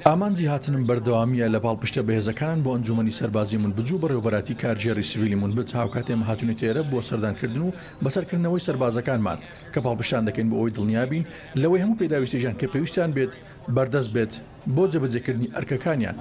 ئامانجی هاتنم بەردەوامییە لە پاڵپشتە بەهێزەکانان بۆ ئەنجوومەنی سەربازی منبج و بەڕێوەبەرایەتی کارگێڕی سڤیلی منبج، هاوکات ئێمە هاتووینەتە ئێرە بۆ سەردانکردن و بەسەرکردنەوەی سەربازەکانمان کە پاڵپشتیان دەکەین بۆ ئەوەی دڵنیابین لەوەی هەموو پێداویستییەکیان کە پێویستیان بێت بەردەست بێت بۆ جێبەجێکردنی ئەرکەکانیان.